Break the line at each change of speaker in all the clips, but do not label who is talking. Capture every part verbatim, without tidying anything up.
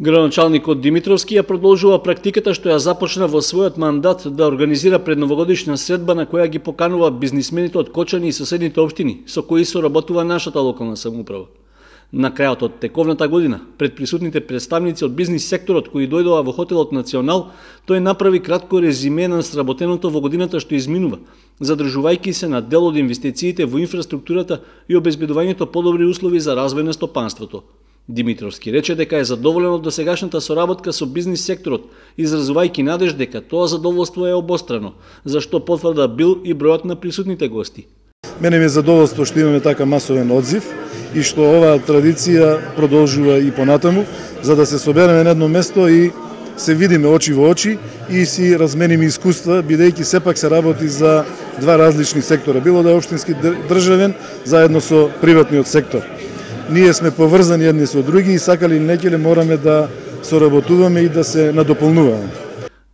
Градоначалникот Димитровски ја продолжува практиката што ја започна во својот мандат да организира предновогодишна средба на која ги поканува бизнисмените од Кочани и соседните општини со кои соработува нашата локална самоуправа. На крајот од тековната година, пред присутните представници од бизнис секторот кои дојдоа во хотелот Национал, тој направи кратко резиме на сработеното во годината што изминува, задржувајќи се на дел од инвестициите во инфраструктурата и обезбедувањето подобри услови за развој на стопанството. Димитровски рече дека е задоволен од досегашната соработка со бизнис секторот, изразувајќи надеж дека тоа задоволство е обострано, за што потврда бил и бројот на присутните гости.
Мене ми е задоволство што имаме така масовен одзив и што оваа традиција продолжува и понатаму, за да се собереме на едно место и се видиме очи во очи и си размениме искуства, бидејќи сепак се работи за два различни сектора, било да е општински државен заедно со приватниот сектор. Ние сме поврзани едни со други и сакали или некеле мораме да соработуваме и да се надополнуваме.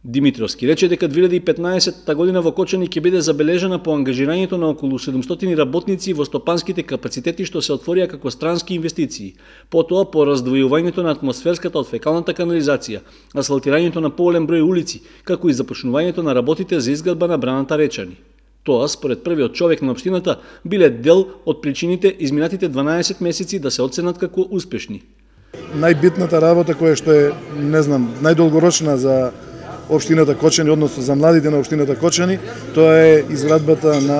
Димитровски рече дека две илјади и петнаесетта година во Кочани ќе биде забележана по ангажирањето на околу седумстотини работници во стопанските капацитети што се отворија како странски инвестиции, потоа по раздвојувањето на атмосферската од фекалната канализација, асфалтирањето на поголем број улици, како и започнувањето на работите за изградба на браната Речани. Тоа, според првиот човек на општината, биле дел од причините изминатите дванаесет месеци да се оценат како успешни.
Најбитната работа која што е, не знам, најдолгорочна за општината Кочани, односно за младите на општината Кочани, тоа е изградбата на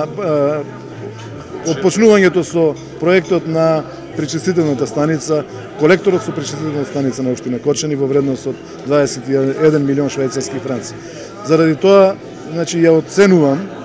отпочнувањето со проектот на пречистителната станица, колекторот со пречистителната станица на општина Кочани во вредност од дваесет и еден милион швајцарски франци. Заради тоа, значи, ја оценувам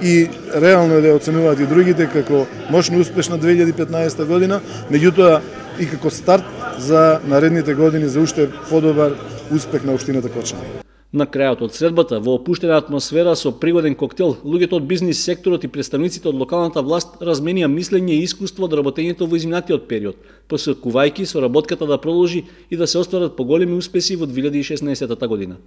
и реално е да ја оценуваат и другите како мощно успешна две илјади и петнаесетта година, меѓутоа и како старт за наредните години за уште подобар успех на општината Кочани.
На крајот од средбата, во опуштена атмосфера со пригоден коктел, луѓето од бизнис секторот и представниците од локалната власт разменија мислење и искуство од работењето во изминатиот период, посакувајќи соработката да продолжи и да се остварат поголеми успеси во две илјади и шеснаесетта година.